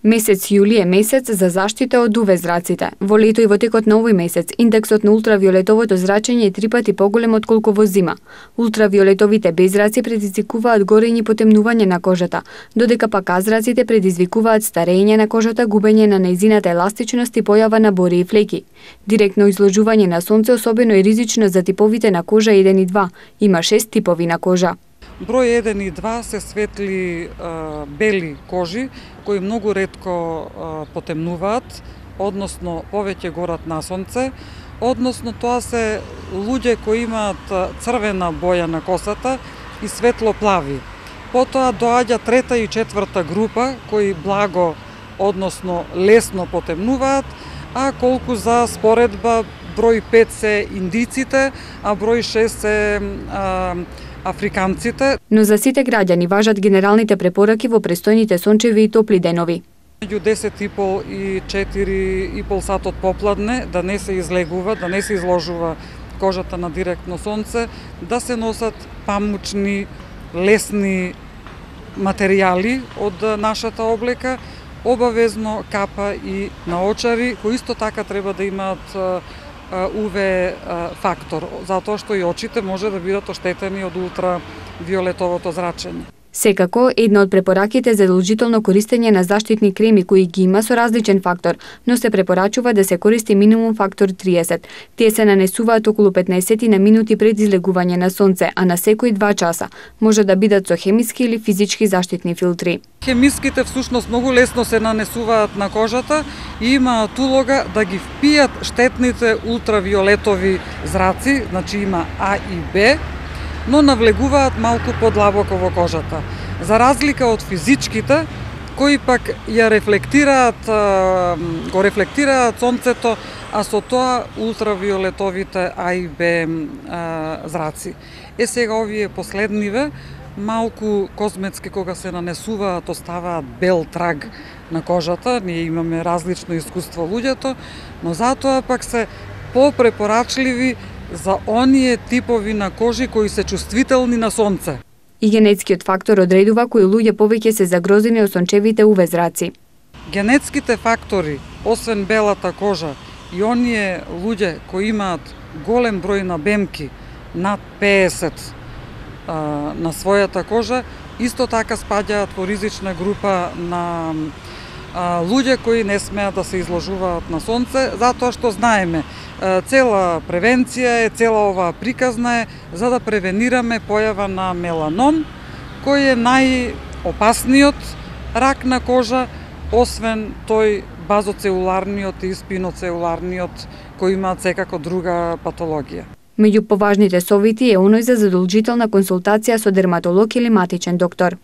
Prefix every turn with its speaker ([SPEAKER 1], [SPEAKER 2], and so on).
[SPEAKER 1] Месец јули е месец за заштита од УВ зраците. Во лето и во текот на овој месец индексот на ултравиолетовото зрачење е 3 пати поголем отколку во зима. Ултравиолетовите беззраци предизвикуваат горење и потемнување на кожата, додека пак А-зраците предизвикуваат старење на кожата, губење на нејзината еластичност и појава на бори и флеки. Директно изложување на сонце особено е ризично за типовите на кожа 1 и 2. Има 6 типови на кожа.
[SPEAKER 2] Број 1 и 2 се светли бели кожи кои многу ретко потемнуваат, односно повеќе горат на сонце, односно тоа се луѓе кои имаат црвена боја на косата и светло плави. Потоа доаѓа трета и четврта група кои благо, односно лесно потемнуваат, а колку за споредба број 5 се индиците, а број 6 се африканците.
[SPEAKER 1] Но за сите граѓани важат генералните препораки во престојните сончеви и топли денови.
[SPEAKER 2] Меѓу 10,5 и 4,5 сатот попладне да не се излегува, да не се изложува кожата на директно сонце, да се носат памучни, лесни материјали од нашата облека, обавезно капа и наочари, кои исто така треба да имаат УВ фактор, затоа што и очите може да бидат оштетени од ултравиолетовото зрачење.
[SPEAKER 1] Секако, една од препораките за задолжително користење на заштитни креми кои ги има со различен фактор, но се препорачува да се користи минимум фактор 30. Тие се нанесуваат околу 15 на минути пред излегување на сонце, а на секои 2 часа. Може да бидат со хемиски или физички заштитни филтри.
[SPEAKER 2] Хемиските всушност многу лесно се нанесуваат на кожата и имаат улога да ги впијат штетните ултравиолетови зраци, значи има А и Б, но навлегуваат малку подлабоко во кожата. За разлика од физичките, кои пак ја го рефлектираат сонцето, а со тоа ултравиолетовите А и Б зраци. Сега овие последниве, малку козметски кога се нанесуваат, оставаат бел траг на кожата, ние имаме различно искуство луѓето, но затоа пак се попрепорачливи за оние типови на кожи кои се чувствителни на сонце.
[SPEAKER 1] И генетскиот фактор одредува кои луѓе повеќе се загрозени од сончевите УВ зраци.
[SPEAKER 2] Генетските фактори, освен белата кожа, и оние луѓе кои имаат голем број на бемки, над 50 на својата кожа, исто така спаѓаат во ризична група на луѓе кои не смеат да се изложуваат на сонце, затоа што знаеме, цела превенција е, цела оваа приказна е за да превенираме појава на меланом, кој е најопасниот рак на кожа, освен тој базоцелуларниот и спиноцелуларниот, кои имаат секако друга патологија.
[SPEAKER 1] Меѓу поважните совети е оној за задолжителна консултација со дерматолог или матичен доктор.